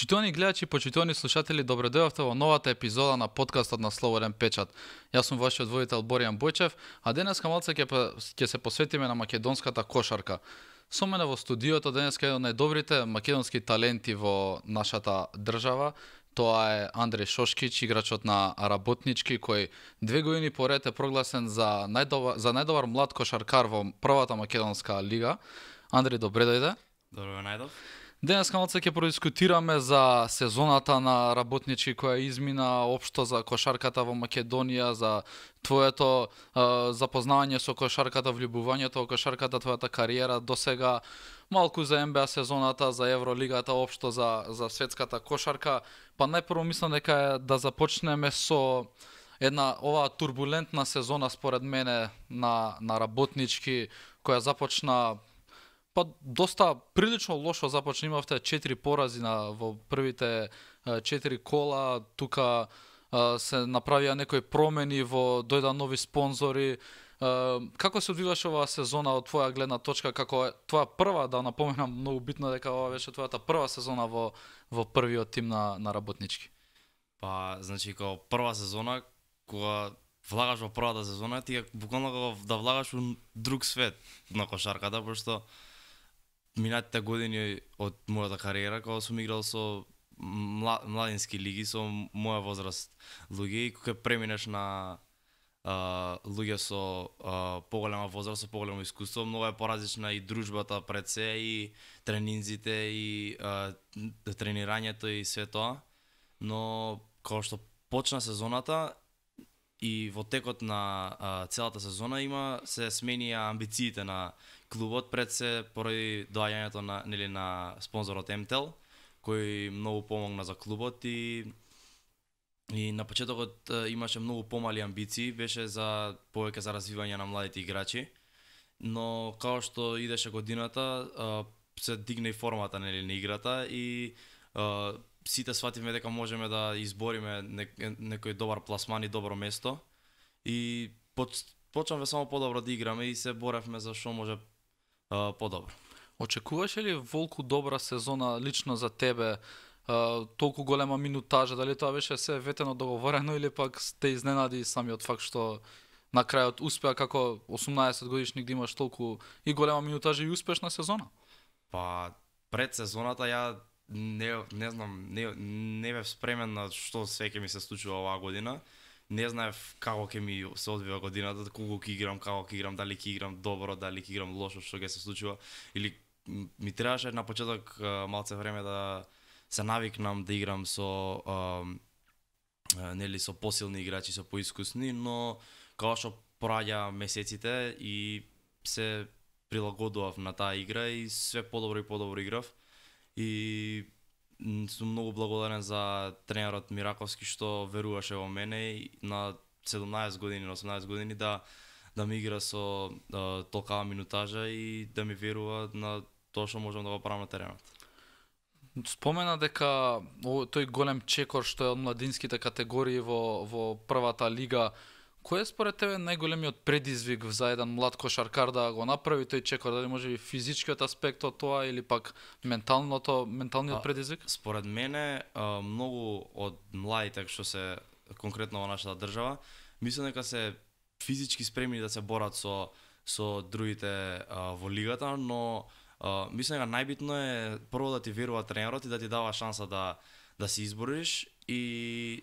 Почитувани гледачи, почитувани слушатели, добро дојавте во новата епизода на подкастот на Слободен печат. Јас сум вашиот водител Боријан Бојчев, а денеска малце ќе се посветиме на македонската кошарка. Со мене во студиото денеска еден од најдобрите македонски таленти во нашата држава. Тоа е Андреј Шошкич, играчот на Работнички, кој 2 години поред е прогласен за најдобар млад кошаркар во првата македонска лига. Андреј, добре дојде. Добро најдов. Денеска малце ќе продискутираме за сезоната на Работнички која измина, општо за кошарката во Македонија, за твоето запознавање со кошарката, влюбувањето во кошарката, твојата кариера до сега, малку за НБА сезоната, за Евролигата, општо за светската кошарка. Па најпрво мислам дека е да започнеме со една оваа турбулентна сезона според мене на Работнички, која започна доста прилично лошо започна, имавте 4 порази во првите 4 кола, тука се направија некои промени, дојда нови спонзори. Како се одвиваше оваа сезона од твоја гледна точка, како твоја прва, да напоменам, многу битно дека ова беше твојата прва сезона во првиот тим на Работнички? Па, значи, као прва сезона, кога влагаш во првата сезона, ти е буквално да влагаш во друг свет на кошарката, пошто минатите години од мојата кариера, кога сум играл со младински лиги, со моја возраст луѓе, и кога преминеш на луѓе со поголема возраст, со поголемо искуство, многу е поразлична и дружбата пред се, и тренинзите, и тренирањето и све тоа. Но кога што почна сезоната и во текот на целата сезона се сменија амбициите на клубот, пред се поради доаѓањето на спонзорот МТЕЛ, кој многу помогна за клубот и на почетокот имаше многу помали амбиции, беше за повеќе за развивање на младите играчи, но као што идеше годината се дигна и формата на играта и сите свативме дека можеме да избориме некој добар пласман и добро место и почнавме само подобро да играме и се боревме за што може подобро. Очекуваше ли волку добра сезона лично за тебе? Толку голема минутажа, дали тоа беше се ветено договорено или пак те изненади самиот факт што на крајот успеа како 18 годишник да имаш толку и голема минутажа и успешна сезона? Па пред сезоната ја не знам, не бев спремен на што све ќе ми се случува оваа година. Не знаев како ќе ми се одвива годината, колку ќе играм, како ќе играм, дали ќе играм добро, дали ќе играм лошо, што ќе се случува. Или ми требаше на почеток малце време да се навикнам да играм со со посилни играчи, со поискусни, но као што проаѓа месеците и се прилагодував на таа игра и све подобро и подобро играв. И сум многу благодарен за тренерот Мираковски што веруваше во мене на 17 години, на 18 години да ми игра со толкава минутажа и да ми верува на тоа што можам да го правам на теренот. Спомена дека тој голем чекор што е од младинските категории во првата лига, кој е според тебе најголемиот предизвик за еден млад кошаркар да го направи тој чекор? Дали може би физичкиот аспект од тоа или пак менталниот предизвик? Според мене, многу од младите што се конкретно во нашата држава, мислам дека се физички спремни да се борат со другите во лигата, но мислам дека најбитно е прво да ти верува тренерот и да ти дава шанса да се избориш, и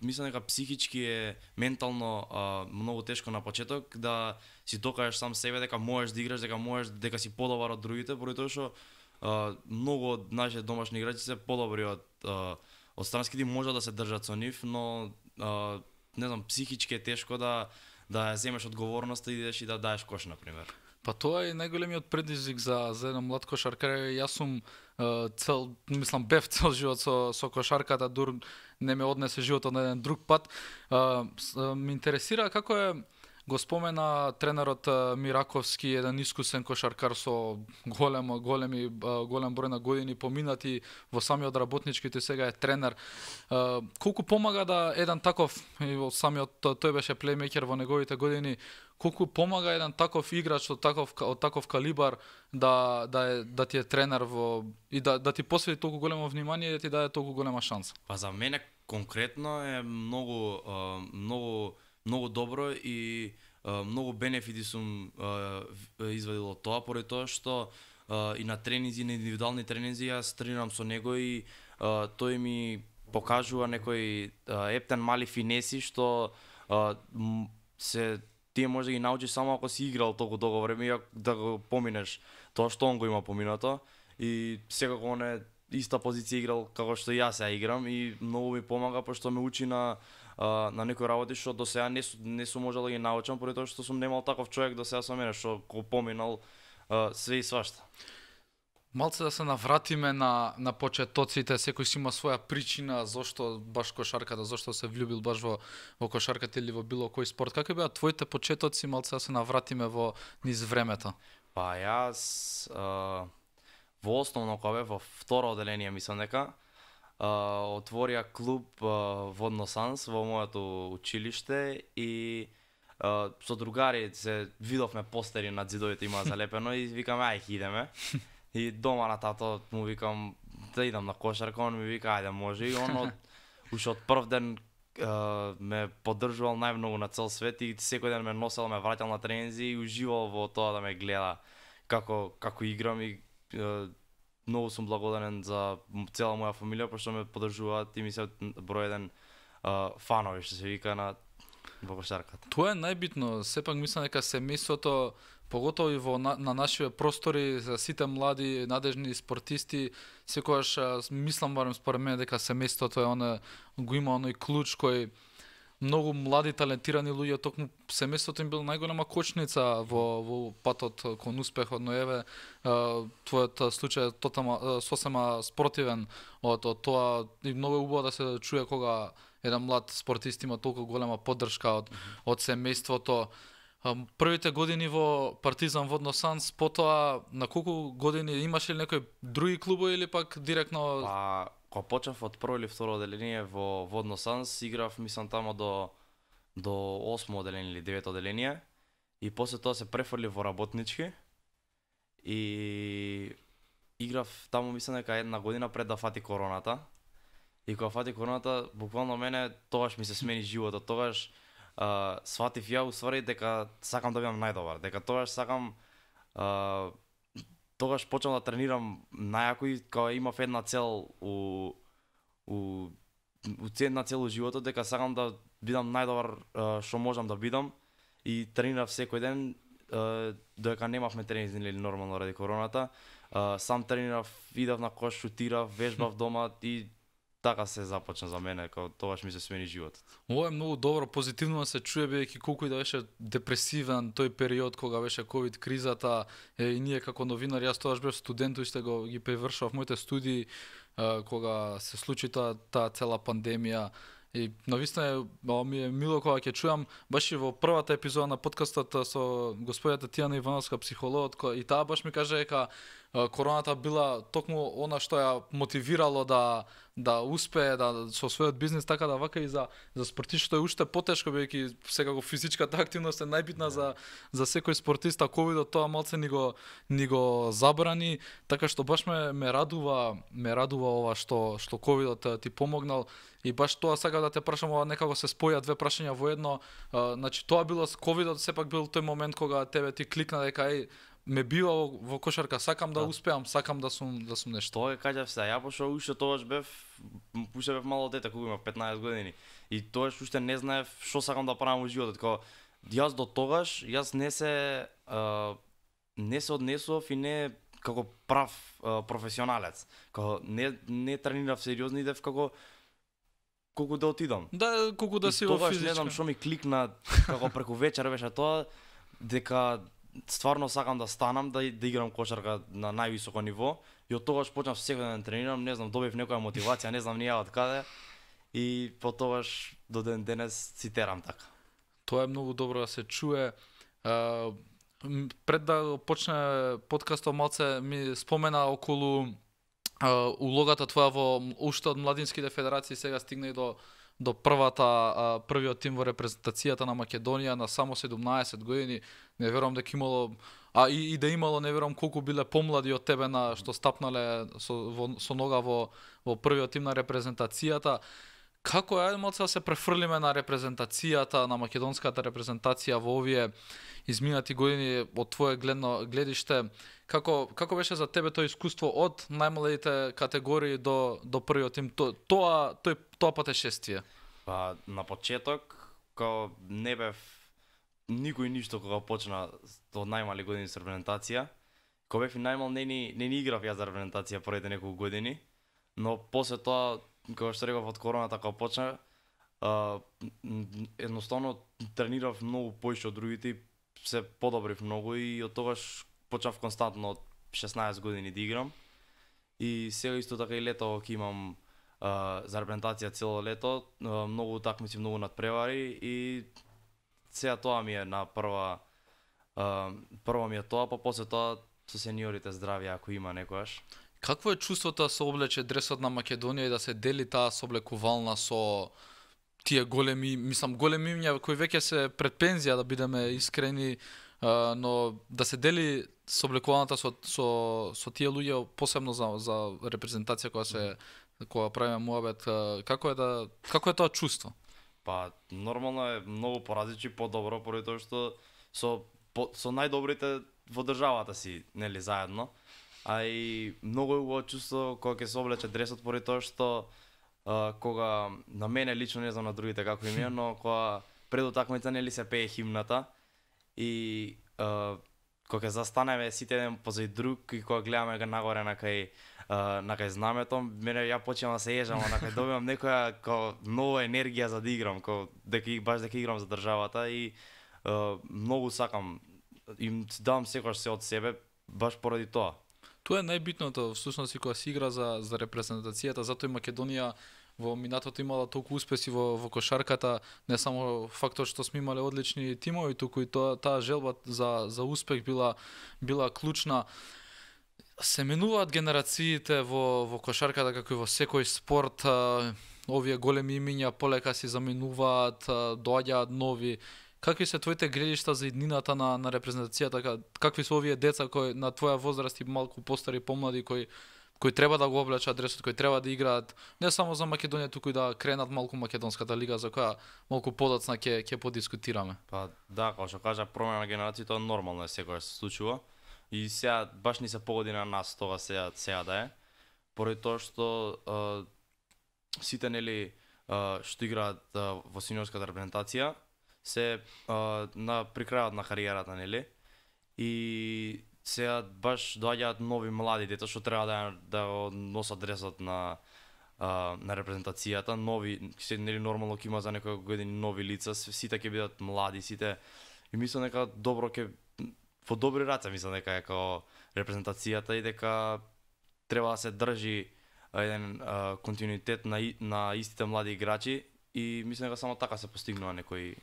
мислам дека психички е ментално многу тешко на почеток да си докажеш сам себе дека можеш да играш, дека си подобар од другите, поради тоа што многу од нашите домашни играчи се подобри од странските, може да се држат со нив, но не знам, психички е тешко да ја земеш одговорноста и идеш и да даеш кош, на пример. Па тоа е најголемиот предизвик за еден млад кошаркар. Јас сум бев цел живот со кошарката, дур не ме однесе животот на еден друг пат. Ме интересира како е, го спомена тренерот Мираковски, еден искусен кошаркар со голем број на години поминати во самиот Работнички, тој сега е тренер. Колку помага да еден таков, самиот тој беше плеймејкер во неговите години, колку помага еден таков играч од таков калибар да ти е тренер и да ти посвети толку големо внимание и да ти даде толку голема шанса. Па за мене конкретно е многу добро и многу бенефити сум извадил од тоа, поради тоа што и на тренинзи, на индивидуални тренинзи јас тренирам со него и тој ми покажува некои ептен мали финеси што тие може да ги научиш само ако си играл толку долго време и да го поминеш тоа што он го има поминато, и секако он е иста позиција играл како што јас ја играм и многу ми помага пошто ме учи на некои работи што до сега не сум можел да ги научам, поради тоа што сум немал таков човек до сега со мене што го поминал све и свашта. Малце да се навратиме на почетоците, секој си има своја причина зошто баш кошарката, зошто се влюбил баш во кошарката или во било кој спорт. Какви беа твоите почетоци, малце да се навратиме во низ времето? Па јас во основно кога бев во второ оделение, мислам дека отворија клуб Водно Санс во моето училиште и со другари се видовме постери над зидовите има залепено и викаме ајде идеме. И дома на тато му викам да идам на кошарка, он ми вика ајде може, и он уште од прв ден ме поддржувал најмногу на цел свет и секој ден ме носел, ме враќал на тренинзи и уживал во тоа да ме гледа како играм и многу сум благодарен за цела моја фамилија пошто ме поддржуваат и ми се број еден фанови што се вика во кошарката. Тоа е најбитно, сепак мислам дека семејството, поготово и на нашите простори, за сите млади надежни спортисти, секогаш мислам барем според мене дека семејството е го има оној клуч кој многу млади талентирани луѓе токму семејството им бил најголема кочница во патот кон успехот, но еве твојот случај е сосема спротивен од тоа и многу убаво да се чуе кога еден млад спортист има толку голема поддршка од семејството. Првите години во Партизан Водно Санс, потоа на колку години имаш ли некои други клубови или пак директно? Па, кога почнав од прво или второ оделение во Водно Санс, играв мислам тамо до 8 оделение или 9 оделение и после тоа се префрли во работнички и играв тамо мислам дека една година пред да фати короната. И кога фати короната, буквално мене тогаш ми се смени животот, тогаш сватив ја уствари дека сакам да бидам најдобар, дека тогаш сакам тогаш почнав да тренирам најако и кога имав една цел една цел у животот, дека сакам да бидам најдобар што можам да бидам и тренирав секој ден, додека немавме тренинзи или нормално ради короната, сам тренирав, идав на кош, шутирав, вежбав дома и така се започна за мене, кога тогаш ми се смени животот. Ова е многу добро, позитивно да се чуе, бидејќи колку и да беше депресивен тој период кога беше ковид кризата, и ние како новинари, јас тогаш бев студент, уште ги превршував моите студии кога се случи таа цела пандемија. И навистина ми е мило кога ќе чујам баш и во првата епизода на подкастот со господјата Тијана Ивановска, психологот, и таа баш ми каже дека короната била токму она што ја мотивирало да успее со својот бизнис, така да вака и за спортистот е уште потешко, бидејќи секако физичката активност е најбитна за секој спортист, а ковидот тоа малце ни го забрани, така што баш ме радува ова што ковидот ти помогнал. И баш тоа сакам да те прашам, ова некако се споја две прашања во едно. Значи тоа било ковидот, сепак бил тој момент кога тебе ти кликна дека ме бива во кошарка, сакам да успеам, сакам да сум нешто. Тоа е кажав се, ја пошто уште тогаш бев мало дете, кога имав 15 години. И тогаш уште не знаев што сакам да правам во животот. Кога јас до тогаш не се однесував и не како прав професионалец. Кога не тренирав сериозно, идев како колку да отидам. Да, колку да си во физичка. Тогаш не знам што ми кликна, како преку вечер беше тоа, дека стварно сакам да станам, да играм кошарка на највисоко ниво. И од тогаш почнав секој ден да тренирам, не знам, добив некоја мотивација, не знам ни ја од каде. И потогаш до ден денес си терам така. Тоа е многу добро да се чуе. Пред да почне подкастот, малце ми спомена околу улогата твоја во уште од младинските федерации, сега стигна и до до првиот тим во репрезентацијата на Македонија на само 17 години. Не верувам дека имало и да имало, не верувам колку биле помлади од тебе на што стапнале со нога во првиот тим на репрезентацијата. Како е малце да се префрлиме на репрезентацијата, на македонската репрезентација во овие изминати години од твое гледиште? Како беше за тебе тоа искуство од најмалите категории до првиот тим, тоа патешествие? Па на почеток као не бев никој ништо кога почна од најмали години со репрезентација. Кога бев и најмал не ни играв ја за репрезентација првите неколку години, но после тоа како што реков од короната кога почна, едноставно тренирав многу поише од другите, се подобрив многу и од тогаш почнав константно од 16 години да играм. И сега исто така и лето ќе имам за репрезентација цело лето, многу утакмици, многу надпревари и сега тоа ми е на прво ми е тоа, па после тоа со сениорите здравје ако има некојаш. Какво е чувството да се облече дресот на Македонија и да се дели таа соблекувална со тие големи имиња кои веќе се пред пензија, да бидеме искрени, но да се дели соблекуваната со тие луѓе, посебно за репрезентација кога правиме муабет, како е тоа чувство? Па нормално е многу поразличи, подобро, поради тоа што со најдобрите во државата си, нели, заедно. А и многу е убаво чувство кога ќе се облече дресот, поради тоа што кога на мене лично, не знам на другите како им е, но кога пред утакмица нели се пее химната и кога ќе застанеме сите еден позади друг и кога гледаме нагоре на кај знамето, мене ја почнам да се ежам, на кај добивам некоја нова енергија за да играм, дека играм за државата и многу сакам, им давам секогаш се од себе баш поради тоа. Тоа е најбитното, всушност и кога се игра за репрезентацијата, затоа и Македонија во минатото имала толку успеси во кошарката, не само фактот што сме имале одлични тимови, туку и таа желба за успех била клучна. Се менуваат генерациите во кошарката, како и во секој спорт, овие големи имиња полека се заменуваат, доаѓаат нови. Какви се твоите гледишта за иднината на репрезентацијата? Какви се овие деца кои на твоја возраст и малку постари, помлади, кои треба да го облечат дресот, кои треба да играат не само за Македонија, туку и да кренат малку македонската лига, за која малку подоцна ќе подискутираме? Па да, како што кажа, промена на генерацијата тоа нормално е, секогаш се случува. И сега баш ни се погоди на нас тоа сега да е. Поради тоа што сите нели што играат во сениорската репрезентација се при крајот на кариерата, нели? И сега баш доаѓаат нови млади деца што треба да носат дресот на репрезентацијата, нови, нели нормално ќе има за некои години нови лица, сите ќе бидат млади, сите и мислам дека добро ќе во добри раце, мислам дека е како репрезентацијата и дека треба да се држи еден континуитет на истите млади играчи и мислам дека само така се постигнува некои.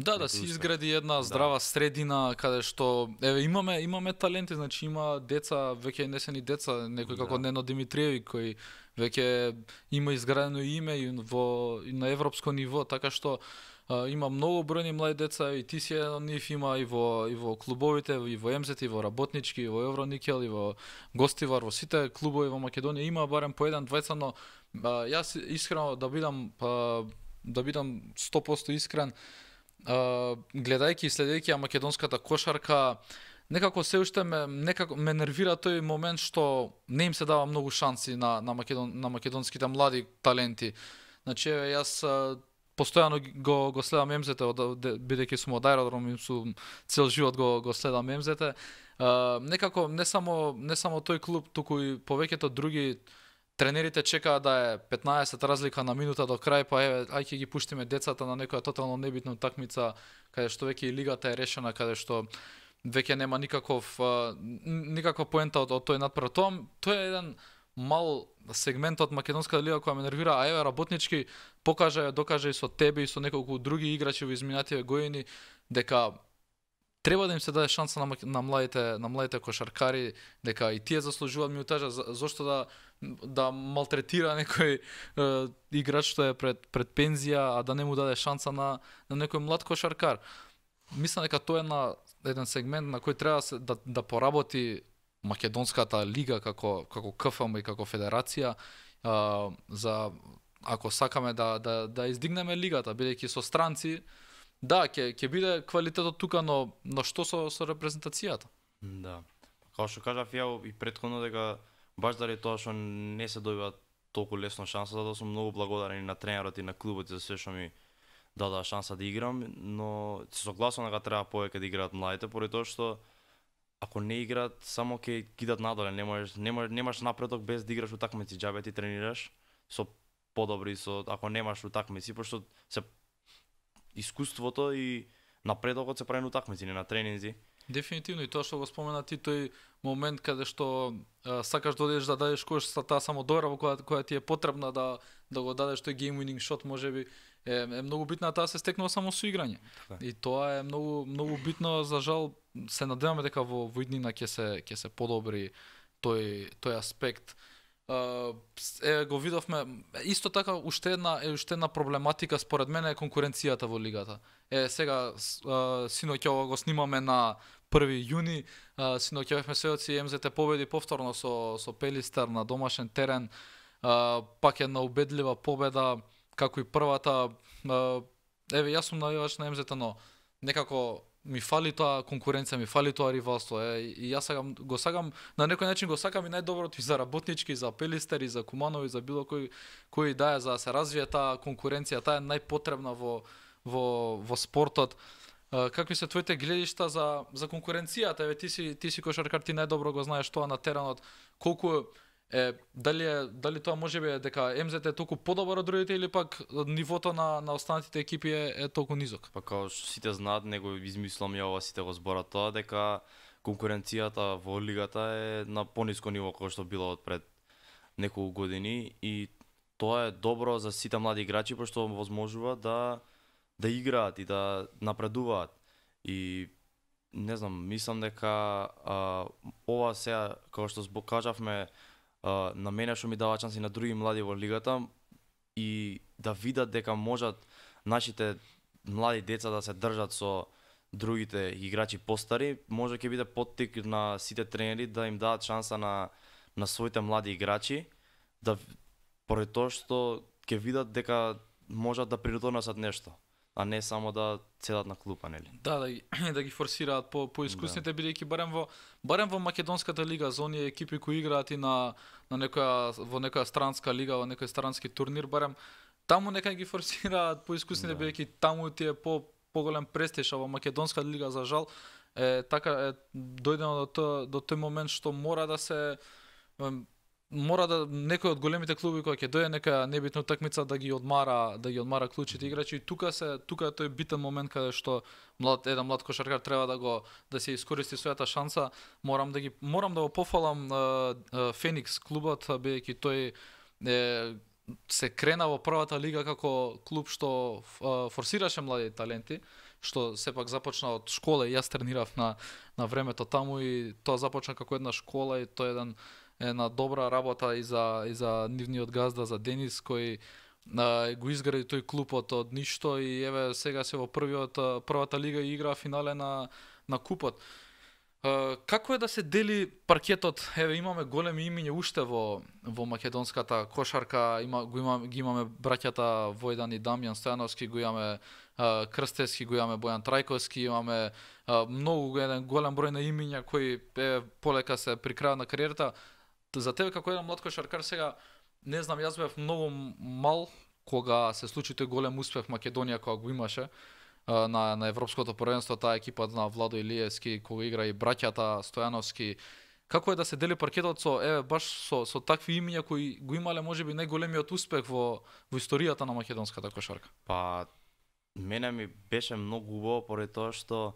Да се изгради една здрава средина каде што имаме таленти, значи има деца, веќе не се ни деца, некој како Нено Димитриевиќ кој веќе има изградено име и на европско ниво, така што има многу бројни млади деца и ти си еден од нив, има и во клубовите, и во МЗ, и во Работнички, и во Евроникел, и во Гостивар, во сите клубови во Македонија има барем по еден, двајца, но јас искрено да бидам 100% искрен, гледајќи и следејќи македонската кошарка, некако се уште ме нервира тој момент што не им се дава многу шанси на македонските млади таленти. Значи јас постојано го следам МЗ-те, бидејќи сум од аеродром и сум цел живот го следам МЗ-те. Некако не само тој клуб, туку и повеќето други тренерите чекаат да е 15 разлика на минута до крај, па ај ќе ги пуштиме децата на некоја тотално небитна утакмица, каде што веќе и лигата е решена, каде што веќе нема никаква поента од тој надпревар. Тоа е еден мал сегмент од македонската лига која ме нервира, а еве Работнички докаже и со тебе и со неколку други играчи во изминативе години дека треба да им се даде шанса на младите кошаркари, дека и тие заслужуваат минутажа, зошто да да малтретира некој играч што е пред пензија, а да не му даде шанса на некој млад кошаркар. Мислам дека тоа е еден сегмент на кој треба да поработи македонската лига како КФМ и како федерација за ако сакаме да издигнеме лигата, бидејќи со странци, да, ќе биде квалитетот тука, но што со репрезентацијата? Да. Како што кажав ја и претходно дека баш заради тоа што не се добива толку лесно шанса, затоа сум многу благодарен на тренерот и на клубот за се што ми дадоа шанса да играм, но се согласувам дека треба повеќе да играат младите, поради тоа што ако не играат, само ќе кидат надоле, немаш напредок без да играш утакмици, џабе ти тренираш со подобри ако немаш утакмици, пошто се искуството и напредокот се прави на утакмици, не на тренинзи. Дефинитивно, и тоа што го спомена ти, тој момент каде што сакаш да одиш да дадеш кош со таа самодоверба која ти е потребна да го дадеш тој game winning shot, можеби е многу битна таа се стекнува само со играње. И тоа е многу битно, за жал се надеваме дека во иднина ќе се подобри тој аспект. Го видовме исто така уште една проблематика според мене е конкуренцијата во лигата. Сега синоќа го снимаме на 1 јуни, синоќа бевме сведоци МЗТ победи повторно со Пелистер на домашен терен, пак една убедлива победа како и првата. Јас сум навивач на МЗТ, но некако ми фали тоа конкуренција, ми фали тоа ривалство. И јас го сакам, на некој начин го сакам и најдоброто и за Работнички, и за Пелистер, и за Куманови, за било кој да е, за да се развие таа конкуренција, таа е најпотребна во спортот. Какви се твоите гледишта за конкуренцијата? Ти си кошаркар, ти најдобро го знаеш тоа на теренот. Колку дали тоа можеби е дека МЗТ е толку подобар од другите или пак нивото на останатите екипи е толку низок? Па као што сите знаат, него измислам ја ова, сите го зборат тоа, дека конкуренцијата во лигата е на пониско ниво кој што било од пред неколку години, и тоа е добро за сите млади играчи, пошто возможува да играат и да напредуваат. И не знам, мислам дека ова сега, како што кажавме, на мене што ми дава шанси на други млади во лигата, и да видат дека можат нашите млади деца да се држат со другите играчи постари, може ќе биде поттик на сите тренери да им дадат шанса на своите млади играчи, поради тоа што ќе видат дека можат да придонесат нешто, а не само да седат на клупа, нели? Да ги форсираат по искусните, бидејќи барем во македонската лига, за оние екипи кои играат и во некоја странска лига, во некој странски турнир, барем таму нека ги форсираат по искусните, бидејќи таму ти е поголем престиж, а во македонската лига за жал дојдено до тој момент што мора да некој од големите клуби кој ќе дојде нека небитна утакмица да ги одмара клучите играчи, и тука е тој битен момент каде што еден млад кошаркар треба да се искористи својата шанса. Морам да го пофалам Феникс клубот, бидејќи тој се крена во првата лига како клуб што форсираше млади таленти, што сепак започна од школа, и јас тренирав на времето таму, и тоа започна како една школа, и тоа е една добра работа и за нивниот газда, за Денис, кој го изгради тој клуб од ништо, и еве сега се во првата лига и игра финале на купот. Како е да се дели паркетот? Еве имаме големи имиња уште во македонската кошарка, ги имаме браќата Војдан и Дамјан Стојановски, го имаме Крстевски, го имаме Бојан Трајковски, имаме еден голем број на имиња кои полека се при крајот на кариерата. За тебе како еден млад кошаркар сега, не знам, јас бев многу мал кога се случи тој голем успех Македонија кога го имаше на европското првенство, таа екипа на Владо Илиевски, кога игра и браќата Стојановски. Како е да се дели паркетот баш со такви имиња кои го имале можеби најголемиот успех во историјата на македонската кошарка? Па мене ми беше многу убаво, поради тоа што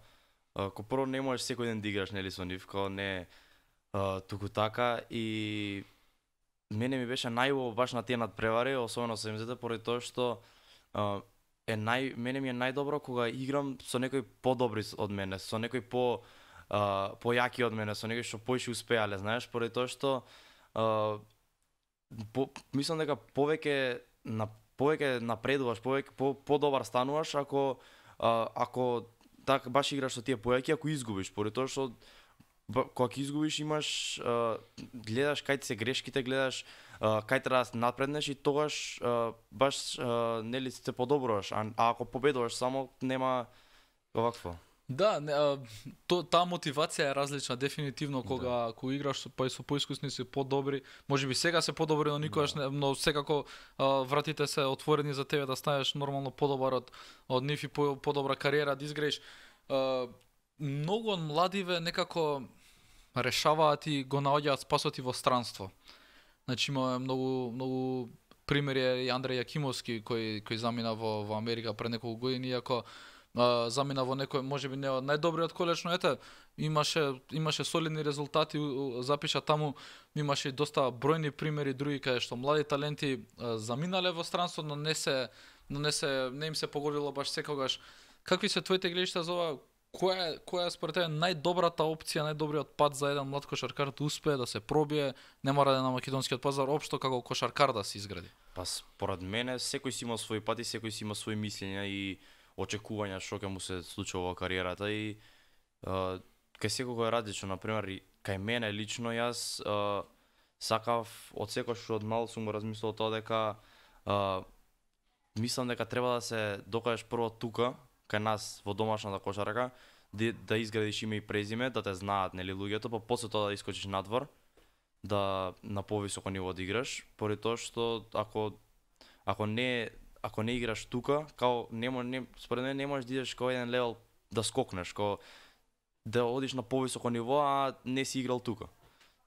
ко прво не можеш секој ден да играш, нели, со нив, као не туку така, и мене ми беше најубаво баш на тие надпревари, особено со МЗТ, поради тоа што мене ми е најдобро кога играм со некој подобри од мене, со некој појаки од мене, со некој што поише успеале, знаеш, поради тоа што мислам дека повеќе напредуваш, повеќе подобар стануваш ако така баш играш со тие поеки, ако изгубиш, поради тоа што кога ќе изгубиш имаш гледаш кај ти се грешките, гледаш кај треба да напреднеш и тогаш баш нели се подобруваш, а ако победуваш само нема овакво. Да, таа мотивација е различна дефинитивно кога играш па и со поискусни си подобри. Можеби сега се подобри, но никогаш не, но секако вратите се отворени за тебе да станеш нормално подобар од нив и подобра кариера да изграиш. Многу од младиве некако решаваат и го наоѓаат спасот и во странство. Значи имаме многу примери, и Андреј Јакимовски кој замина во Америка пред неколку години, иако замина во некој можеби не од најдобриот колеж, но ете имаше солидни резултати, запиша таму, имаше доста бројни примери други каде што млади таленти заминале во странство, но не им се погодило баш секогаш. Какви се твоите гледишта за ова? Која е според тебе најдобрата опција, најдобриот пат за еден млад кошаркар да успее да се пробие, не мора да е на македонскиот пазар, општо како кошаркар да се изгради? Па според мене секој си има свој пат и секој си има свои мислења и очекувања што ќе му се случува во кариерата и кај секој е различно. Например, кај мене лично јас сакав од секој што од мал сум го размислил тоа дека мислам дека треба да се докажеш прво тука кај нас во домашната кошарка, да изградиш име и презиме, да те знаат нели луѓето, па после тоа да искочиш надвор, да на повисоко ниво да играш, поради тоа што ако не играш тука, као според мене не можеш да идеш као еден левел да скокнеш, као да одиш на повисоко ниво, а не си играл тука.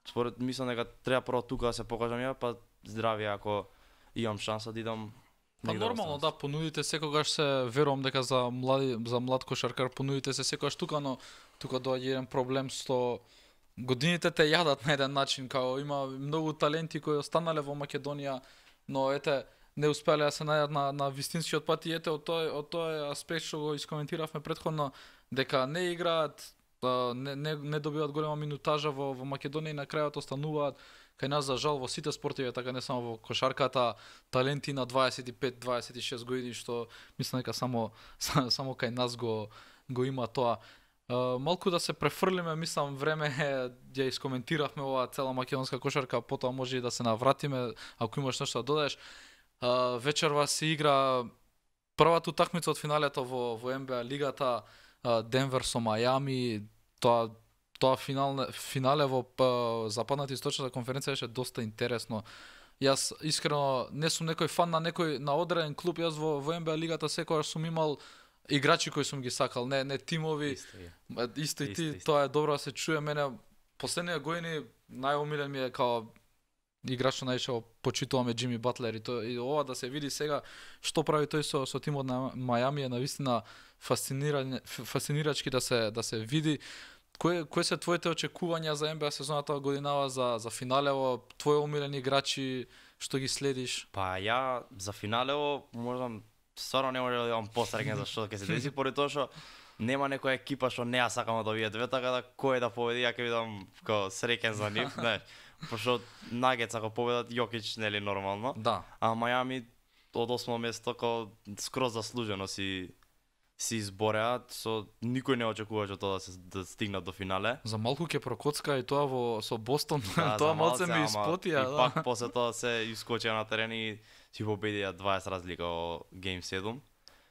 Според мислам дека треба прво тука да се покажам ја, па здравје ако имам шанса да идам. Па нормално, да, понудите секогаш се, верувам дека за млад кошаркар понудите се секогаш тука, но тука доаѓа еден проблем што годините те јадат на еден начин, као има многу таленти кои останале во Македонија, но ете не успеале да се најдат на вистинскиот пат и ете од тој аспект што го искоментиравме претходно, дека не играат, не добиваат голема минутажа во Македонија и на крајот остануваат. Кај нас, за жал, во сите спортиви, така не само во кошарката, таленти на 25-26 години, што мислам дека само кај нас го има тоа. Малку да се префрлиме, мислам, време е, ја искоментиравме оваа цела македонска кошарка, потоа може и да се навратиме, ако имаш нешто да додадеш. Вечерва се игра првата утакмица од финалето во НБА лигата, Денвер со Мајами, тоа финале во западната источната конференција беше доста интересно. Јас искрено не сум некој фан на одреден клуб, јас во НБА лигата секогаш сум имал играчи кои сум ги сакал, не тимови. Исто и ти, тоа е добро да се чуе. Мене последните години најомилен ми е као играч што најчесто почитуваме Џими Батлер и ова да се види сега што прави тој со тимот на Мајами е навистина фасцинирачки да се види. Кои се твоите очекувања за НБА сезоната годинава за финалево, твои омилени играчи што ги следиш? Па ја за финалево можам стварно не може да имам посреќен за што ќе се деси, поради тоа што нема некоја екипа што не ја сакам да овие две, така да кој да победи, ја ќе бидам како среќен за нив, знаеш. Пошто Нагетс ако победат Јокич нели нормално. Да. А Мајами од 8-о место како скроз заслужено си избореа, никој не очекуваше тоа да стигнат до финале. За малку ќе прокоцка и тоа со Бостон, да, тоа малце ми испотија. И пак после тоа се искочија на терен и си победија 20 разлика во Game 7.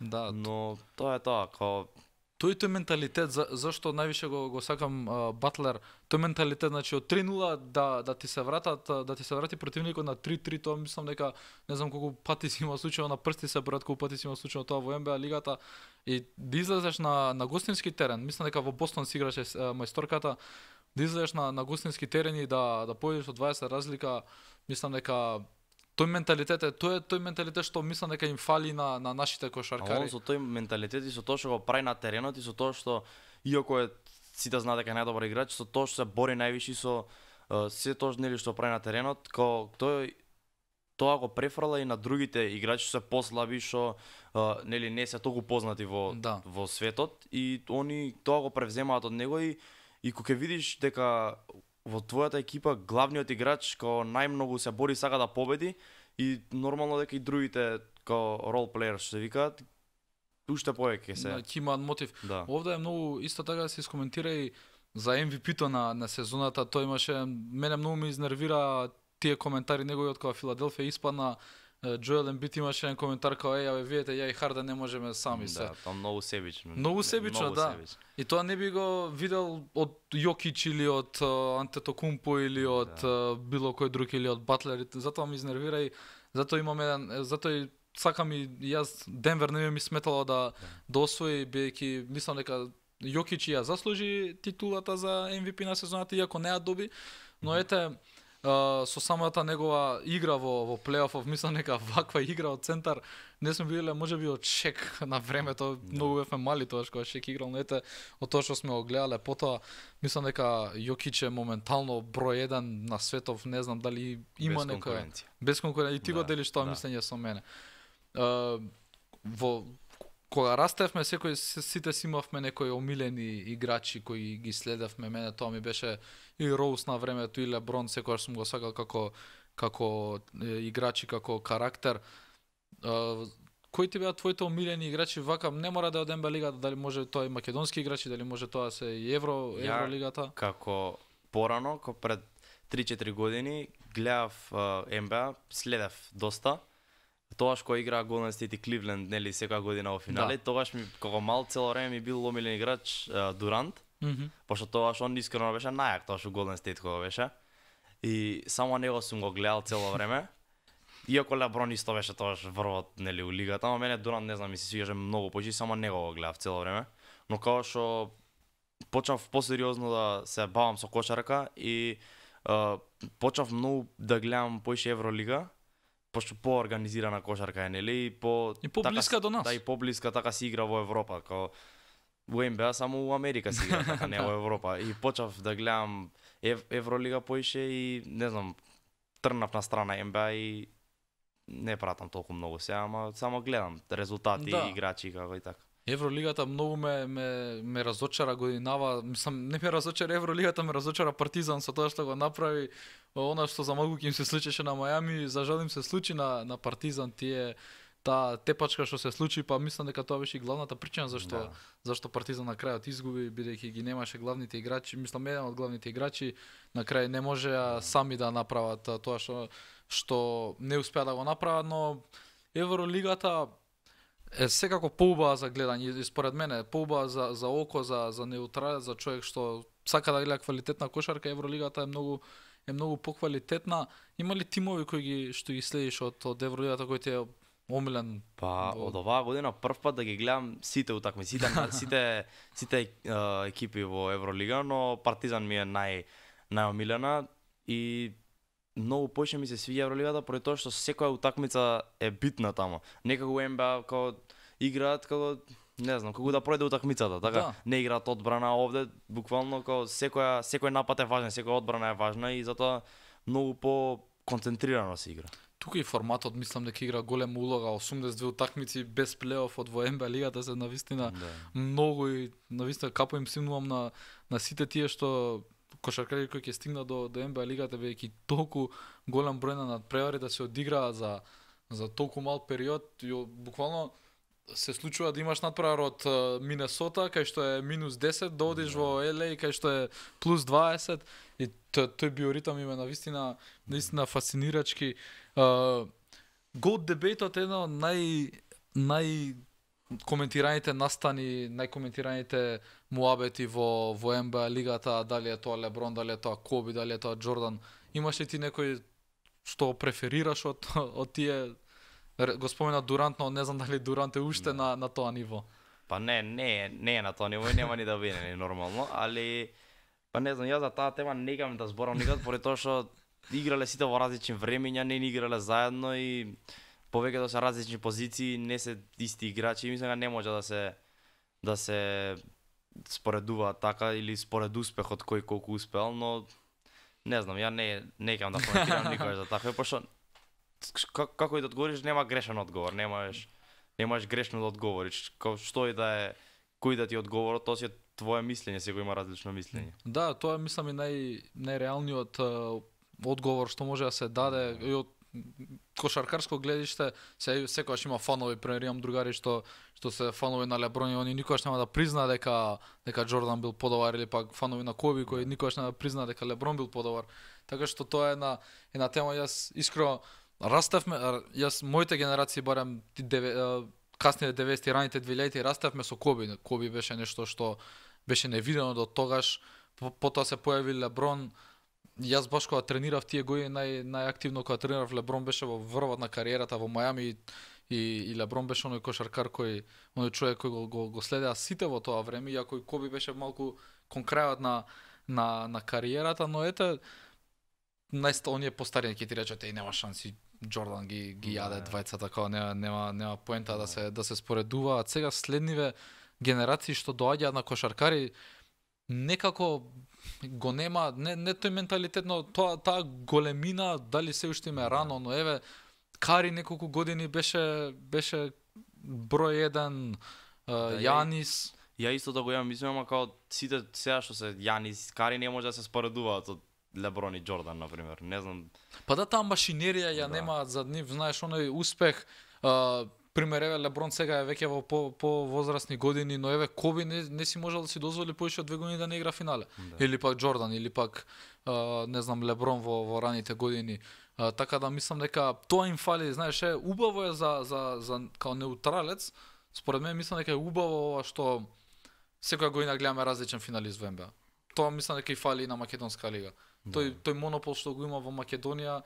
Да. Но тоа е тоа, као тој менталитет, зашто највише го сакам Батлер, тој менталитет, значи од 3-0 да ти се врати противникот на 3-3, тоа мислам дека не знам колку пати си има случајно на прсти се брат, колку пати си има случајно тоа во НБА лигата и да излезеш на гостински терен, мислам дека во Бостон си играше мајсторката, да излезеш на гостински терен и да победиш од 20 разлика, мислам дека тој менталитет што мислам дека им фали на нашите кошаркари. А со тој менталитет и со тоа што го прави на теренот и со тоа што иако е сите знаат дека е најдобар играч, со тоа што се бори највише со се тоа нели што прави на теренот, као тоа го префрла и на другите играчи што се послаби, што нели не се толку познати во светот и они тоа го превземаат од него и кога ќе видиш дека во твојата екипа главниот играч као најмногу се бори, сака да победи и нормално дека и другите као role players што се викаат уште повеќе се. Ќе имаат мотив. Да. Овде е многу исто така да се искоментира и за MVP-то на сезоната. Тој имаше, мене многу ме изнервира тие коментари неговиот кога Филаделфија испадна. Джоел Ембит имаше еден коментар као абе видете ја и Харден не можеме сами се. Да, тоа многу себично. Многу себично, да. Себично. И тоа не би го видел од Јокич или од Антетокумпо или од било кој друг или од Батлер. Затоа ме изнервира и затоа имам еден, затоа и сакам и јас Денвер не ми сметало да освои, бидејќи мислам дека Јокич ја заслужи титулата за MVP на сезоната, иако не ја доби, но ете со самата негова игра во плейофов, мислам дека ваква игра од центар не сме виделе можеби од Шек на времето, многу бевме мали тогаш кога Шек играл, но ете од тоа што сме го гледале потоа, мислам дека Јокич е моментално број 1 на светов, не знам дали има некоја без конкуренција. И ти го делиш тоа мислење со мене. Кога растевме, сите си имавме некои омилени играчи кои ги следевме. Мене тоа ми беше и Роуз на времето, и Леброн, секогаш сум го сакал како играчи, како карактер. Кои ти беа твоите омилени играчи? Вака не мора да е од НБА лигата, дали може тоа и македонски играчи, дали може тоа се и Евролигата? Како порано, пред 3-4 години гледав НБА, следев доста. Тогаш кога играа Golden State и Cleveland, нели секоја година во финале, тогаш ми како мал цело време ми бил омилен играч Дурант, пошто тогаш он искрено беше најак, тогаш у Golden State кога беше. И само него сум го гледал цело време. Иако Леброн исто беше тогаш врвот, нели, у лигата, но мене Дурант не знам, ми се свигаше многу повеќе, само него го гледав цело време. Но кога што почнав посериозно да се бавам со кошарка и почнав многу да гледам поише Евролига, пошто поорганизирана кошарка е, нели, и поблиска до нас. Да, и поблиска така се игра во Европа, као во НБА само у Америка се игра, така не во Европа. И почнав да гледам Евролига поише и не знам, трнав на страна НБА и не пратам толку многу сега, ама само гледам резултати, играчи како и така. Евролигата многу ме разочара годинава, мислам не ме разочара Евролигата, ме разочара Партизан со тоа што го направи, она што за малку ќе им се случеше на Мајами, за жал им се случи на Партизан, таа тепачка што се случи, па мислам дека тоа беше и главната причина зашто Партизан на крајот изгуби, бидејќи ги немаше главните играчи, мислам еден од главните играчи на крај не можеа сами да направат тоа што не успеа да го направат, но Евролигата е секако поубава за гледање и според мене поубава за око, за неутрален, за човек што сака да гледа квалитетна кошарка. Евролигата е многу поквалитетна. Има ли тимови што ги следиш од Евролигата кој ти е омилен? Па од оваа година прв пат да ги гледам сите утакмици, сите екипи во Евролига, но Партизан ми е најомилена и многу поише ми се свиѓа Евролигата поради тоа што секоја утакмица е битна таму. Некако у НБА како играат како не знам, како да пројде утакмицата, така не играат одбрана, овде буквално како секој напад е важен, секоја одбрана е важна и затоа многу по концентрирано се игра. Тука и форматот мислам дека игра голема улога, 82 утакмици без плейоф од во НБА лигата се навистина многу и навистина капо им симнувам на сите тие што кошаркари кои ќе стигнат до НБА лигата, бидејќи толку голем број на надпревари да се одиграат за толку мал период, и буквално се случува да имаш надпревар од Минесота кај што е -10, да одиш во LA кај што е +20 и тој биоритам има навистина фасцинирачки. Goat дебејтот е едно од коментираните настани, најкоментираните муабети во НБА лигата, дали е тоа Леброн, дали е тоа Коби, дали е тоа Џордан. Имаш ли ти некој што преферираш од тие? Го спомена Дурант, но не знам дали Дурант е уште на тоа ниво. Па не е на тоа ниво и нема ни да биде нормално, али па не знам, јас за таа тема не гам да зборам никад, поради тоа што играле сите во различни времиња, не играле заедно и повеќето се различни позиции, не се исти играчи и мислам дека не може да се споредуваат така или според успехот кој колку успеал, но не знам, ја не кам да коментирам никој за така, пошто како и да одговориш, нема грешен одговор, немаш грешно да одговориш. Што и да е, кој да ти одговор, тоа си твое мислење, секој има различно мислење. Да, тоа е мислам и најреалниот одговор што може да се даде и од кошаркарско гледиште. Секогаш има фанови, пример имам другари што се фанови на Леброн и они никогаш нема да призна дека Џордан бил подобар, или пак фанови на Коби кои никогаш нема да призна дека Леброн бил подобар. Така што тоа е една тема. Јас искрено раставме, моите генерации барем касните 90-ти, раните 2000-ти раставме со Коби. Коби беше нешто што беше невидено до тогаш. Потоа се појави Леброн. Јас баш кога тренирав тие години, најактивно кога тренирав, Леброн беше во врвот на кариерата во Мајами и Леброн беше оној кошаркар оној човек кој го следеа сите во тоа време, иако и Коби беше малку кон крајот на кариерата, но ете оние постарени ќе ти речат нема шанси, Џордан ги јаде двајцата, како нема поента да се споредуваат. Сега следниве генерации што доаѓаат на кошаркари некако го нема, не тој менталитет, но таа големина, дали се уште им е рано, но еве Кари неколку години беше број 1, Јанис. Ја исто да го имам, мислам, како сите сега што се Јанис, Кари не може да се споредуваат од Леброн и Џордан, например. Не знам. Па да, таа машинерија ја немаат за нив, знаеш, оној успех. Пример, еве Леброн сега е веќе во повозрастни години, но еве Коби не си можел да си дозволи повеќе од 2 години да не игра финале. Да. Или пак Џордан, или пак не знам, Леброн во раните години. Така да мислам дека тоа им фали, знаеш, убаво е за као неутралец. Според мене мислам дека е убаво ова што секоја година гледаме различен финалист во НБА. Тоа мислам дека и фали и на македонска лига. Да. Тој монопол што го има во Македонија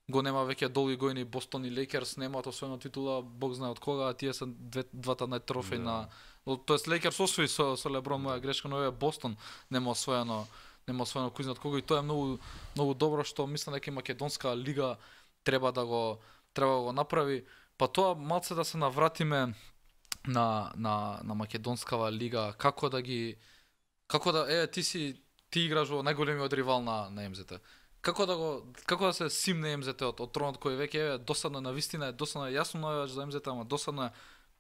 го нема веќе долги години. Бостон и Лейкерс немаат освоена титула, бог знае од кога, а тие се двата најтрофејна. Тоест Лейкерс освои со Леброн, моја грешка, но еве Бостон нема освоено кој знае од кога, и тоа е многу добро што мислам дека и македонска лига треба да го направи. Па тоа малце да се навратиме на македонскава лига, како да ти играш во најголемиот ривал на МЗТ. Како да се симне МЗТ од тронот кој веќе е досадно, навистина е досадно, јасно најаваш за МЗТ, ама досадно е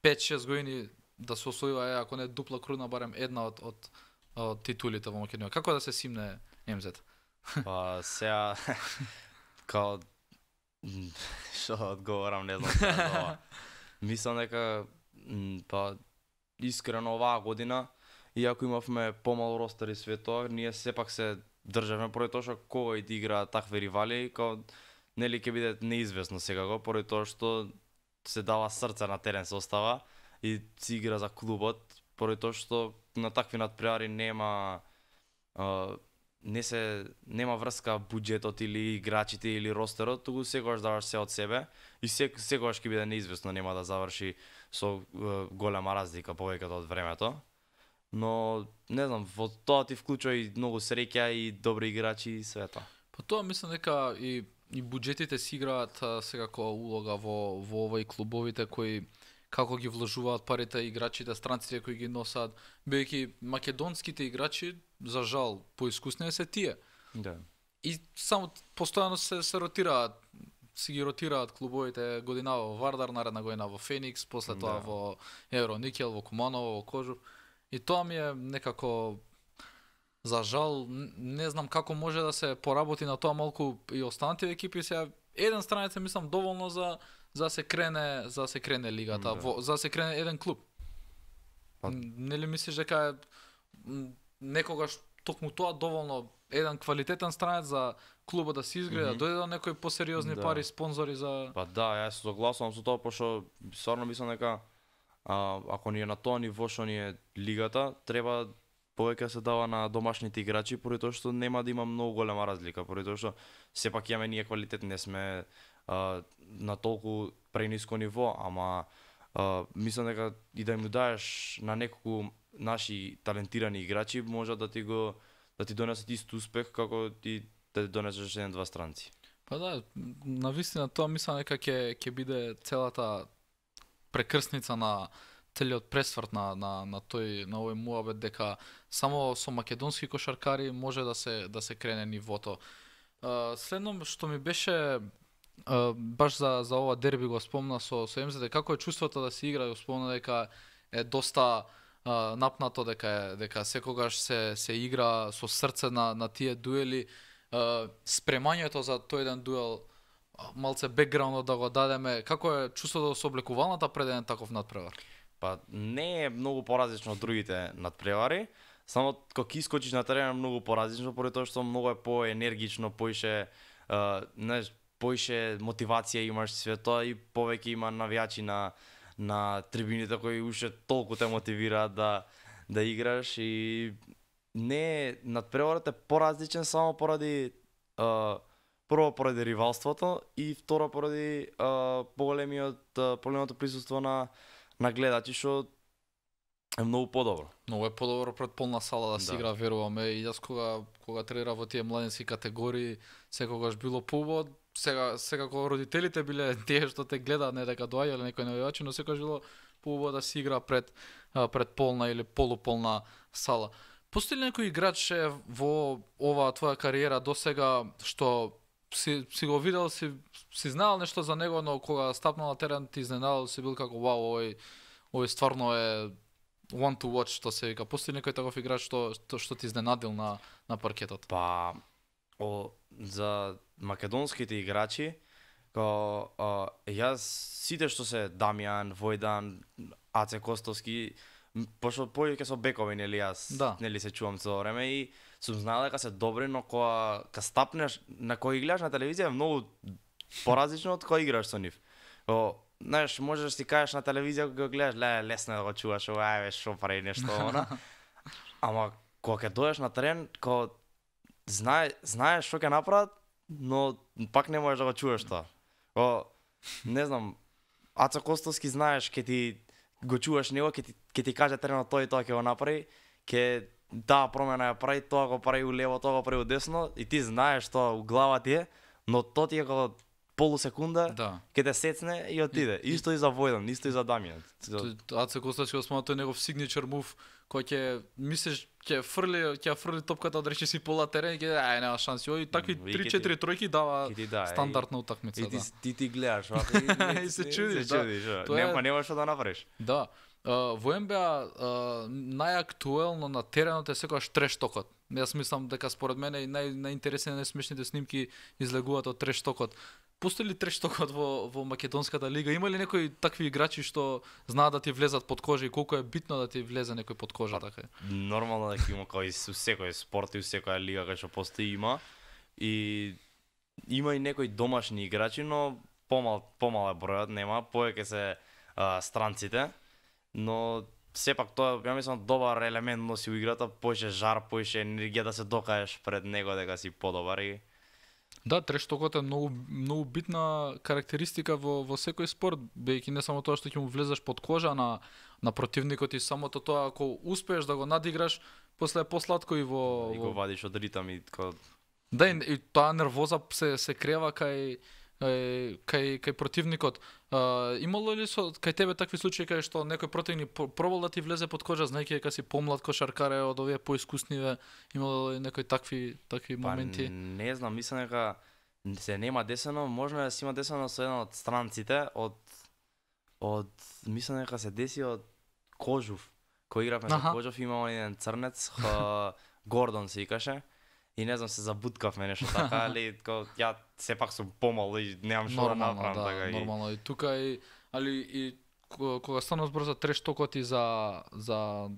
5-6 години да се освојува, ако не дупла круна, барем една од титулите во Македонија. Како да се симне МЗТ? Па сега као што одговорам, не знам. Мислам дека па искрено оваа година, иако имавме помал ростер и све тоа, ние сепак се државме поради тоа што кога и да игра такви ривали, као нели ќе биде неизвестно сега поради тоа што се дава срце на терен, се остава и си игра за клубот, поради тоа што на такви надпревари нема врска буџетот или играчите или ростерот, туку секогаш даваш се од себе и секогаш ќе биде неизвестно, нема да заврши со голема разлика повеќето од времето. Но не знам, во тоа ти вклучува и многу среќа и добри играчи и све тоа. Па тоа мислам дека и буџетите си играат секако улога во овој клубовите кои како ги вложуваат парите, играчите, странците кои ги носат, бидејќи македонските играчи за жал поискусни се тие. Да. И само постојано се ротираат, си ги ротираат клубовите, година во Вардар, наредна година во Феникс, после тоа во Евроникел, во Куманово, во Кожур. И тоа ми е некако за жал, не знам како може да се поработи на тоа малку и останатите екипи. Сега еден странец мислам доволно за се крене лигата, за се крене еден клуб. Нели мислиш дека некогаш токму тоа доволно еден квалитетен странец за клубот да се изгради, да дојде до некои посериозни пари, спонзори за... Па да, јас се согласувам со тоа, пошто стварно мислам дека ако ни е на тоа ниво што ни е лигата, треба повеќе се дава на домашните играчи, поради тоа што нема да има многу голема разлика, поради тоа што сепак имаме ние квалитет, не сме на толку прениско ниво, ама мислам дека и да им даеш на неколку наши талентирани играчи може да ти донесат ист успех како ти да донесеш еден-два странци. Па да, навистина тоа мислам дека ќе биде целата прекрсница на целиот пресврт на овој муабет, дека само со македонски кошаркари може да се крене нивото. Следно што ми беше баш за ова дерби го спомна со МЗТ, како е чувството да се игра, го спомна дека е доста напнато дека секогаш се игра со срце на тие дуели. Спремањето за тој еден дуел, малце бекграунд да го дадеме, како е чувството со облекувалната пред еден таков надпревар? Па не е многу поразлично од другите надпревари, само кога искочиш на терен е многу поразлично, поради тоа што многу е поенергично, поише, знаеш, поише мотивација имаш све тоа и повеќе има навијачи на трибините кои уште толку те мотивираат да играш и не надпреварот е поразличен само поради прво поради ривалството и второ поради поголемото присуство на гледачи што е многу подобро. Многу е подобро пред полна сала да се игра, веруваме. И јас кога тренирав во тие младенски категории, секогаш било поубаво. Сега кога родителите биле тие што те гледаат, не дека доаѓале некој навивачи, но секогаш било поубаво да се игра пред полна или полуполна сала. Постои ли некој играч во оваа твоја кариера досега што си го видел, си знаел нешто за него, но кога стапнал на терен ти изненадал, си бил како вау, овој стварно е one to watch, што се вика. Постои некој таков играч што ти изненадил на паркетот? Па за македонските играчи, јас сите што се Дамјан, Војдан, Аце Костовски, пошто повеќе со бекови, нели јас, нели се чувам цело време и сум знаел дека се добри, но кога стапнеш на кој гледаш на телевизија е многу поразлично од кој играш со нив. Знаеш, можеш да си кажеш на телевизија кога го гледаш, лесно е да го чуваш, ајде шо прави нешто она. Ама кога ќе доеш на терен, кога знаеш што ќе направат, но пак не можеш да го чуваш тоа. Не знам, Аца Костовски знаеш, ќе ти го чуваш него, ќе ти каже теренот тоа и тоа ќе го направи, ќе таа промена ја прави, тоа го прави улево, тоа го прави удесно и ти знаеш тоа у глава ти е, но тоа ти е како полусекунда, ќе те сецне и отиде. Исто и за Војдан, исто и за Дамјан. Аце Костовски го смatra тој негов signature move, кој ќе мислиш ќе фрли топката од речиси пола терен и ќе нема шанси. И такви 3-4 тројки дава стандардна утакмица. И ти гледаш, и се чудиш, да. Нема што да направиш. Да. Во НБА најактуелно на теренот е секогаш трештокот. Јас мислам дека според мене и најинтересни и најсмешните снимки излегуваат од трештокот. Постои ли трештокот во македонската лига? Има ли некои такви играчи што знаат да ти влезат под кожа и колку е битно да ти влезе некој под кожа така? Нормално дека има кој со секој спорт и секоја лига кај што постои има. И има и некои домашни играчи, но помал е бројот, нема, повеќе се странците. Но сепак тоа, ја мислам, добар елемент носи у играта, поише жар, поише енергија да се докажеш пред него дека си подобар и да, трештокот е многу битна карактеристика во секој спорт, бејќи не само тоа што ќе му влезеш под кожа на противникот и самото тоа ако успееш да го надиграш, после е посладко и во го вадиш од ритам и да, и таа нервоза се крева кај противникот. Имало ли кај тебе такви случаи кај што некој противник пробал да ти влезе под кожа, знаејќи дека си помлад кошаркар од овие поискусниве, имало ли некои такви моменти? Не знам, мислам дека се нема десено, можно да се има десено со еден од странците од мислам дека се деси од Кожув. Кој игравме со Кожув, имал еден црнец, Гордон се викаше. И не знам, се забуткавме нешто така, али ја сепак сум помал и немам што да направам така. Нормално, и тука и кога станува збор за трештокот и за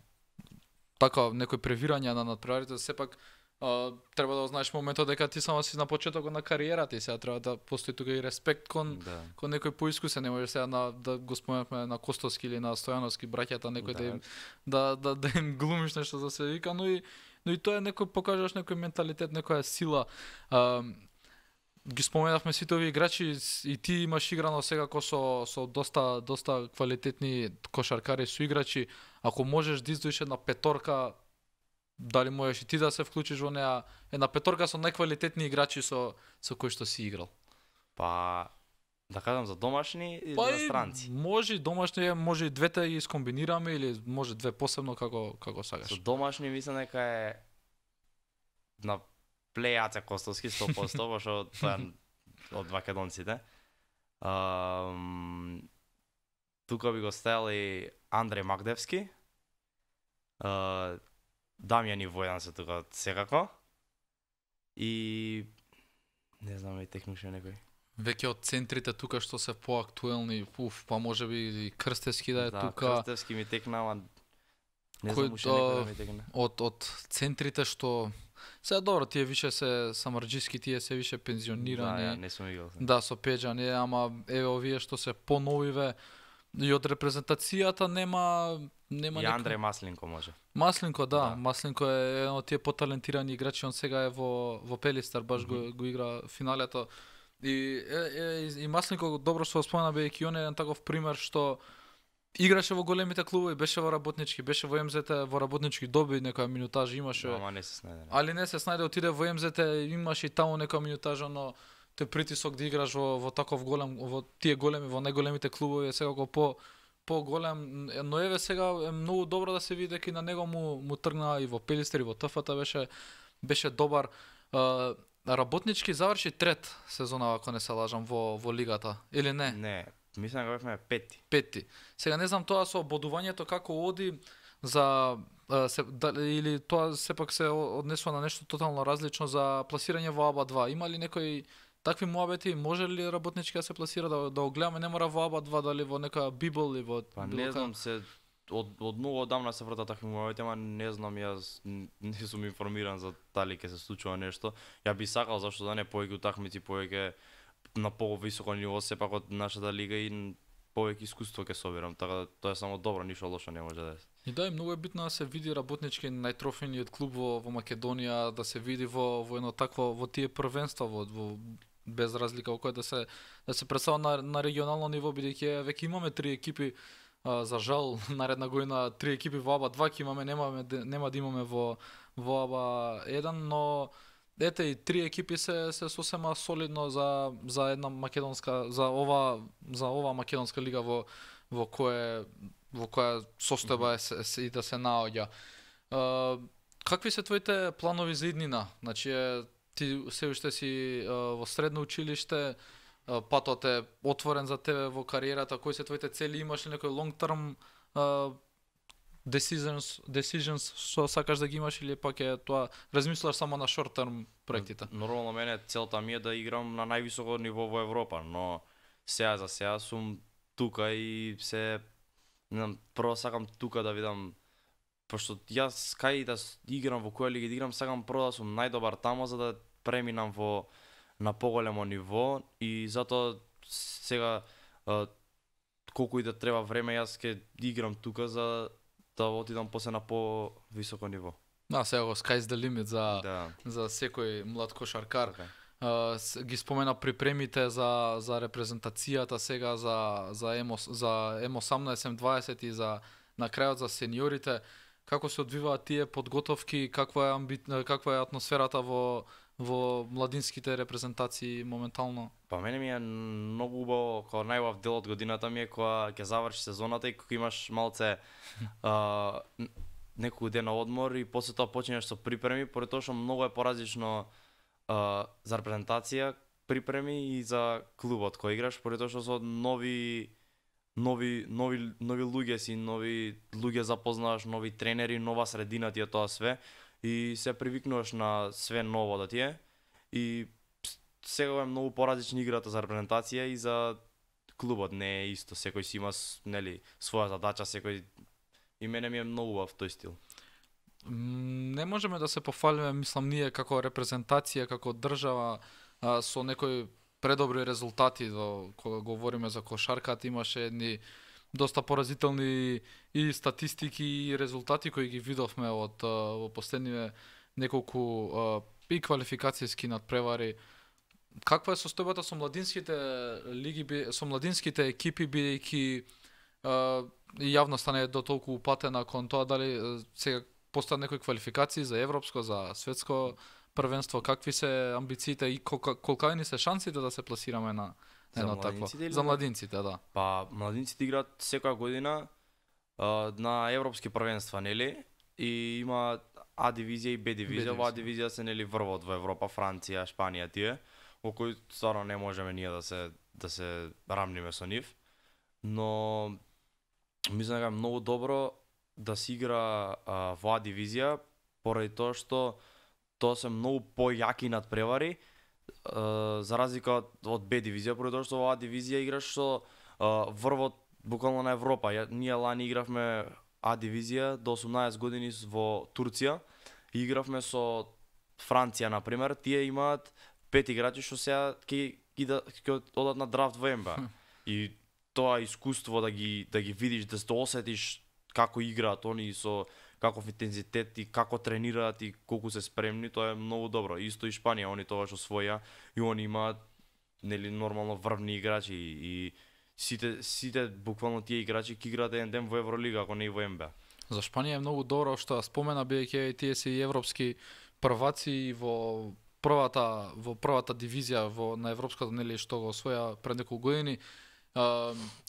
така некои превирања на надпреварите, сепак треба да знаеш моментот дека ти само си на почетокот на кариерата и сега треба да постои тука и респект кон некој поискусен, не може сега да го споменавме на Костовски или на Стојановски браќата, некој да им глумиш нешто за се вика, но и тоа е некој покажаш некој менталитет, некоја сила. Ги споменавме сите овие играчи и ти имаш играно секако со доста квалитетни кошаркари соиграчи. Ако можеш да издвоиш една петорка, дали можеш и ти да се вклучиш во неа, една петорка со најквалитетни играчи со кои што си играл? Па да кажам за домашни или за странци? Може домашни, може и двете ги скомбинираме или може две посебно како сакаш. Со домашни мислам дека е на плей Аце Костовски 100%, пошто тоа од македонците. Тука би го ставил и Андреј Магдевски. Дамјан и Војан се тука секако. И не знам и технуше некој. Веќе од центрите тука што се поактуелни, па можеби и Крстевски да е тука. Да, Крстевски ми текна, ама не Кој знам уште некој да ми текне. од центрите што сега добро, тие више се самарџиски, тие се више пензионирани. Да, не сум играл. Да, со Пеџан, ама еве овие што се поновиве и од репрезентацијата нема И Андреј Маслинко може. Маслинко, да. Да. Маслинко е еден од тие поталентирани играчи, он сега е во Пелистар, баш го игра финалето. И Маслинко добро што го спомена, бејќи он е еден таков пример што играше во големите клубови, беше во работнички, беше во МЗТ, во работнички доби некоја минутажа имаше. Ама не се снајде. Али не се снајде, отиде во МЗТ, имаше и таму некоја минутажа, но тој притисок да играш во таков голем, во тие големи, во најголемите клубови е секако по-голем, но еве сега е многу добро да се види дека и на него му тргна и во Пелистер и во ТФТ беше добар. Работнички заврши трет сезона, ако не се лажам, во лигата, или не? Не, мислам дека бевме пети. Пети. Сега не знам тоа со бодувањето како оди за или тоа сепак се однесува на нешто тотално различно за пласирање во АБА 2. Има ли некои такви муабети, може ли работнички да се пласира да го гледаме, не мора во АБА 2, дали во нека Библ или во Па не знам се од многу одамна се вртат такви муабети, ама не знам, јас не сум информиран за дали ќе се случува нешто. Ја би сакал зашто да не повеќе утакмици, повеќе на повисоко ниво сепак од нашата лига и повеќе искуство ќе соберам, така тоа е само добро, ништо лошо не може да е. И да, многу е битно да се види работнички најтрофејниот клуб во Македонија, да се види во едно такво, во тие првенства, во без разлика во кој да се представува на регионално ниво, бидејќи веќе имаме 3 екипи, за жал наредна година 3 екипи во АБА 2 ќе имаме, нема да имаме во АБА 1, но ете и 3 екипи се сосема солидно за една македонска, за ова македонска лига во која состојба и да се наоѓа. Какви се твоите планови за иднина? Значи ти се уште си во средно училиште, патот е отворен за тебе во кариерата, кои се твоите цели, имаш ли некој long term decisions што сакаш да ги имаш, или пак е тоа размислуваш само на short term проектите? Нормално мене целта ми е да играм на највисоко ниво во Европа, но сега сум тука и не знам, прво сакам тука да видам, пошто јас кај да играм, во која лига да играм, сакам прво да сум најдобар тамо за да преминам на поголемо ниво, и затоа сега колку и да треба време јас ќе играм тука за да отидам после на повисоко ниво. Да, сега го sky's the limit Да. за секој млад кошаркар. Okay. Ги спомена припремите за репрезентацијата сега за М18, М20 и за на крајот за сениорите. Како се одвиваат тие подготовки, каква е атмосферата во младинските репрезентации моментално? Па мене ми е многу убаво, кога најубав дел од годината ми е кога ќе заврши сезоната и кога имаш малце неколку дена одмор и после тоа почнеш со припреми, поради тоа што многу е поразлично за репрезентација припреми и за клубот кој играш, поради тоа што со нови луѓе си, нови луѓе запознаваш, нови тренери, нова средина ти е тоа све и се привикнуваш на све ново да ти е, и сега е многу поразлична играта за репрезентација и за клубот, не е исто, секој си има своја задача, секој, и мене ми е многу убав тој стил. Не можеме да се пофалиме, мислам, ние како репрезентација, како држава со некои предобри резултати, кога говориме за кошарката, имаше едни доста поразителни и статистики и резултати кои ги видовме во последниве неколку и квалификацијски надпревари. Каква е состојбата со младинските лиги, со младинските екипи, бидејќи јавноста не е до толку упатена кон тоа дали сега постојат некои квалификации за европско, за светско првенство, какви се амбициите и колкајни се шансите да се пласираме на едно такво? За младинците, да. Па младинците играат секоја година на европски првенства, нели? И има А дивизија и Б дивизија. Во А дивизија се нели врвот во Европа, Франција, Шпанија тие, во кои стварно не можеме ние да се рамниме со нив. Но мислам дека е многу добро да се игра во А дивизија поради тоа што тоа се многу појаки надпревари за разлика од Б дивизија, поради тоа што во А дивизија играш со врвот буквално на Европа. Ние лани игравме А дивизија до 18 години во Турција и игравме со Франција на пример. Тие имаат 5 играчи што сега ќе одат на драфт во НБА. И тоа искуство да ги видиш, да се осетиш како играат они со каков интензитет и како тренираат и колку се спремни, тоа е многу добро. Исто и Шпанија, они тогаш освоја и они имаат нели нормално врвни играчи и сите буквално тие играчи ќе играат еден ден во Евролига, ако не и во НБА. За Шпанија е многу добро што спомена бидејќи тие се и европски прваци во првата дивизија на европската нели што го освоја пред неколку години.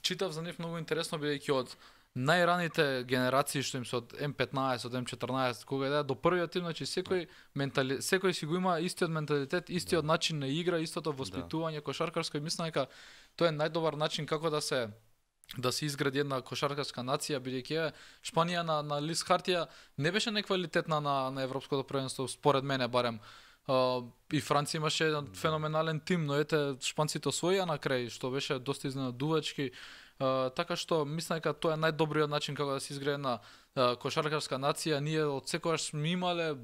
Читав за нив многу интересно бидејќи од најраните генерации што им се од М15, од М14, кога да до првиот тим, значи секој си го има истиот менталитет, истиот начин на игра, истото воспитување кошаркарско и мислам дека тоа е најдобар начин како да се изгради една кошаркарска нација, бидејќи Шпанија на лист хартија не беше неквалитетна на европското првенство, според мене барем. И Франција имаше еден феноменален тим, но ете шпанците освоија на крај, што беше доста изненадувачки. Така што мислам дека тоа е најдобриот начин како да се изгради една кошаркарска нација. Ние од секогаш сме имале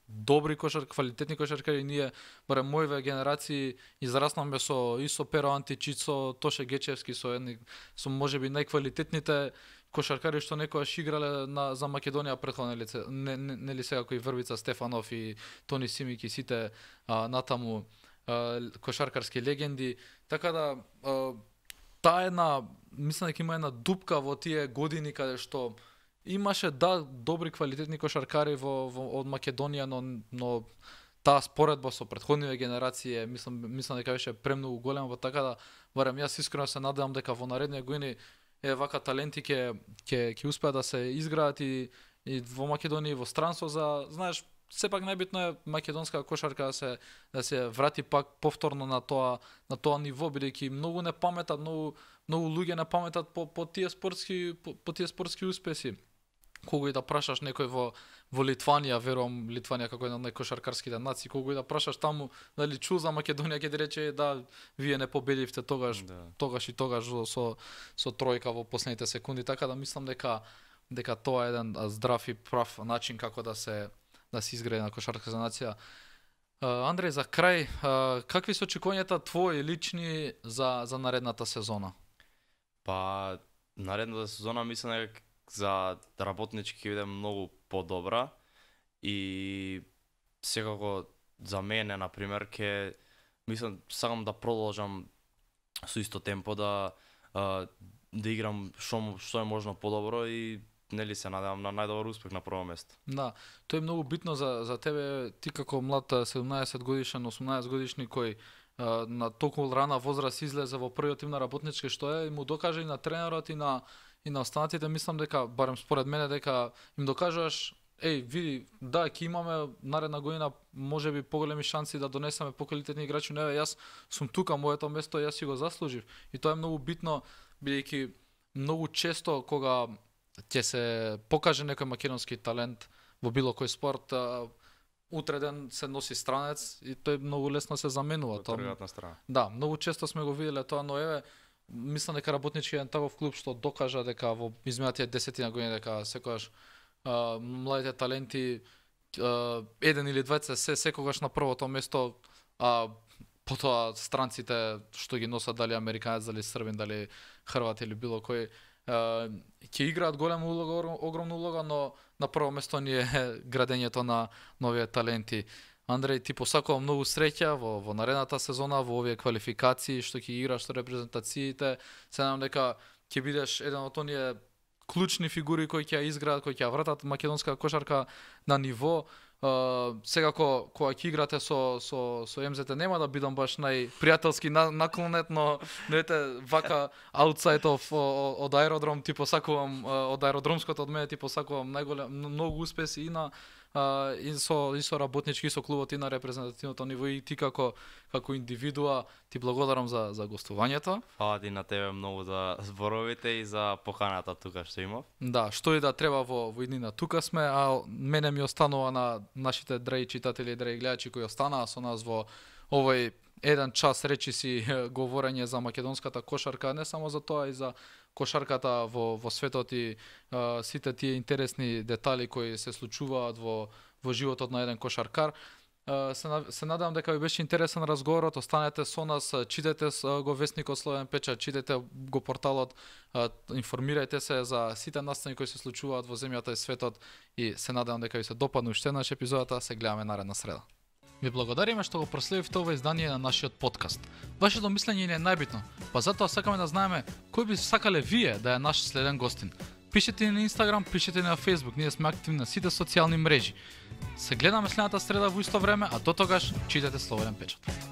добри квалитетни кошаркари, ние барем мојве генерации израснаме со Перо Античич, со Тоше Гечевски, со можеби најквалитетните кошаркари што некогаш играле за Македонија претходно, нели сега кои Врбица Стефанов и Тони Симик и сите натаму кошаркарски легенди. Така да таа мислам дека има една дупка во тие години каде што имаше добри квалитетни кошаркари од Македонија, но таа споредба со претходниве генерации мислам дека беше премногу голема, така да барем јас искрено се надевам дека во наредните години вака таленти ќе успеат да се изградат и во Македонија и во странство, знаеш, сепак најбитно е македонска кошарка да се врати пак повторно на тоа ниво, бидејќи многу не паметат, многу луѓе не паметат по тие спортски успеси. Кога и да прашаш некој во Литванија, верувам Литванија како една од најкошаркарските нации, кога и да прашаш таму дали чу за Македонија, ќе ти рече да вие не победивте тогаш и тогаш со тројка во последните секунди, така да мислам дека тоа е еден здрав и прав начин како да се изгради на кошаркарска нација. Андреј, за крај, какви се очекувањата твои лични за наредната сезона? Па, наредната сезона мислам дека за работнички ќе биде многу подобра и секако за мене, например, сакам да продолжам со исто темпо да играм што е можно подобро и нели се надевам на најдобар успех на прво место. Да, тоа е многу битно за тебе, ти како млад 17 годишен, 18 годишни кој на толку рана возраст излезе во првиот тим на работнички, што е, му докаже и на тренерот и на останатите, мислам дека, барем според мене, дека им докажуваш, види, да, ќе имаме наредна година можеби поголеми шанси да донесеме поквалитетни играчи, јас сум тука, моето место, јас си го заслужив. И тоа е многу битно, бидејќи многу често кога ќе се покаже некој македонски талент во било кој спорт, утре ден се носи странец и тој многу лесно се заменува. Тргат на страна. Да, многу често сме го виделе тоа, но мислам дека работнички е таков клуб што докажа дека во изминатите 10 години дека секогаш младите таленти еден или двајца секогаш на првото место, потоа странците што ги носат, дали американец, дали србин, дали хрват или било кој, ќе играат голема улога, огромна улога, но на прво место ни е градењето на нови таленти. Андреј, ти посакувам многу среќа во наредната сезона, во овие квалификации што ќе играш со репрезентациите. Се надам дека ќе бидеш еден од оние клучни фигури кои ќе изградат, кои ќе вратат македонска кошарка на ниво. Секако кога ќе играте со МЗТ нема да бидам баш најпријателски наклонет, но вака аутсайд од аеродром ти посакувам, од аеродромското од мене ти посакувам многу успеси и на и со работнички, и со клубот, и на репрезентативното ниво, и ти како индивидуа, ти благодарам за гостувањето. Фала ти на тебе многу за зборовите и за поканата тука што имав. Да, што и да треба во иднина тука сме, а мене ми останува на нашите драги читатели и драги гледачи кои останаа со нас во овој еден час речиси говорење за македонската кошарка, не само за тоа, и за кошарката во светот и сите тие интересни детали кои се случуваат во животот на еден кошаркар. Се надевам дека ви беше интересен разговорот. Останете со нас, читете го весникот Слободен печат, читете го порталот, информирајте се за сите настани кои се случуваат во земјата и светот, и се надевам дека ви се допадне уште еднаш епизодата. Се гледаме наредна среда. Ви благодариме што го проследивте ова издание на нашиот подкаст. Вашето мислење ни е најбитно, па затоа сакаме да знаеме кој би сакале вие да е наш следен гостин. Пишете ни на Инстаграм, пишете ни на Фейсбук, ние сме активни на сите социјални мрежи. Се гледаме следната среда во исто време, а до тогаш читате Слободен печат.